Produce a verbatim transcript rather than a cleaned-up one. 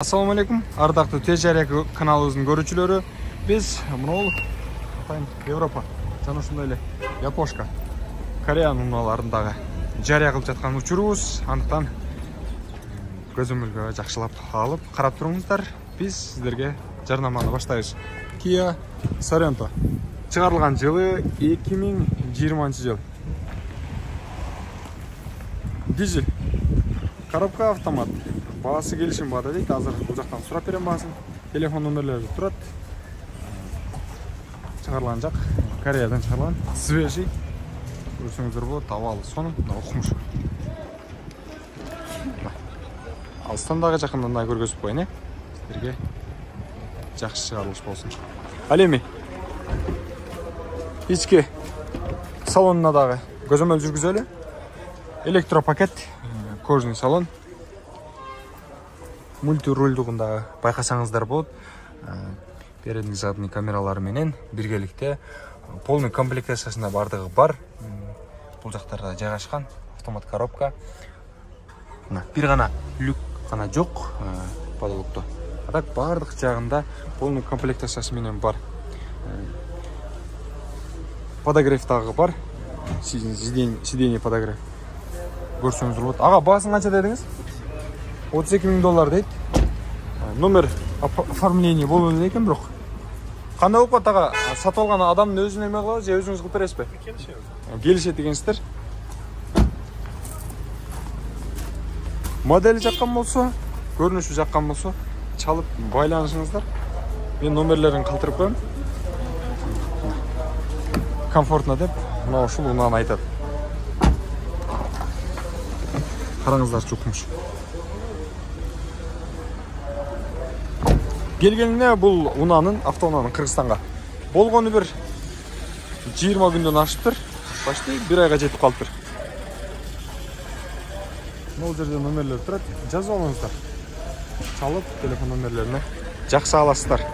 Assalamu alaikum, ардактуу Тез Жария каналыбыздын көрүүчүлөрү. Биз мынау атайын Европа жана ушундай эле Япошка, Кореянын унааларындагы жарыя кылып жаткан учурубуз. Андыктан көзөмөлгө жакшылап алып карап туруңуздар. Биз сиздерге жарнаманы баштайбыз. Kia Sorento чыгарылган жылы эки миң жыйырманчы жыл. Дизель. Коробка автомат. Баасы келишим баада дейт. Азыр бул жактан сурап берем баасын. Телефон номерлери турат. Чыгарылган жак Кореядан чыгарылган. Свежий. Көрсөңүздөр болот. Абалы сонун, окумуш. Алыстан дагы жакындан дагы көргөзүп коеюн, э. Сиздерге жакшы чыгарылыш болсун. Ал эми ички салонуна дагы көзөмөл жүргүзөлү. Электропакет, кожный салон. Мультирульдугунда байкасаңыздар болот. Передний задний камералары менен биргеликте полный комплектациясында бардыгы бар. Бул жактарда жайгашкан автомат коробка. Мына бир гана люк гана жок потолокто. А так бардык жагында полный комплектациясы менен бар. Подогрев дагы бар. Сиденье подогрев. Көрсөңүздөр болот. Ага, баасын канча дедиңиз? отуз эки миң доллар дейт. Номер оформление болуп элек экен, бирок. Кандай болуп калат ага? Сатып алган адамдын өзүнө эме кылабыз, же өзүңүз кылып бересизби? Келишебиз. Келишет экенсиздер. Модели жаккан болсо, көрүнүшү жаккан болсо, чалып байланышыңыздар. Мен номерлерин калтырып коем. Комфортно деп, мына ушул унааны айтат. Караңыздар, чукмуш. Келгенине бул унаанын, автоунаанын Кыргызстанга болгону бир жыйырма күндөн ашыптыр. Почти бир айга жетип калыптыр. Бул жерде номерлер турат, жазып алыңыздар. Чалып телефон номерлерине жакшы аласыздар.